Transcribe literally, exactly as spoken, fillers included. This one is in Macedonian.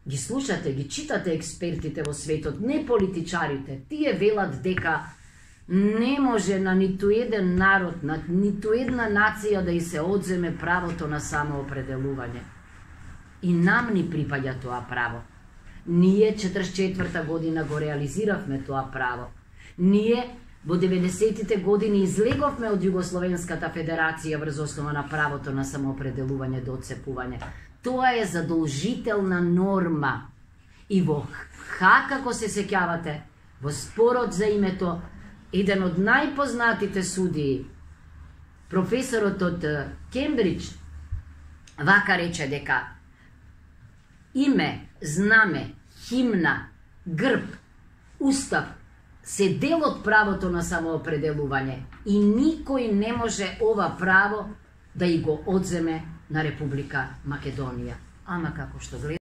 ги слушате, ги читате експертите во светот, не политичарите. Тие велат дека не може на ниту еден народ, на ниту една нација да и се одземе правото на самоопределување. И нам ни припаѓа тоа право. Ние четридесет и четврта година го реализиравме тоа право. Ние во деветдесетите години излеговме од Југословенската федерација врз основа на правото на самоопределување до отцепување. Тоа е задолжителна норма. И во Хаг, како се сеќавате, во спорот за името, еден од најпознатите судии, професорот од Кембридж, вака рече дека име, знаме, химна, грб, устав се дел од правото на самоопределување и никој не може ова право да и го одземе на Република Македонија. Ама како што гледаме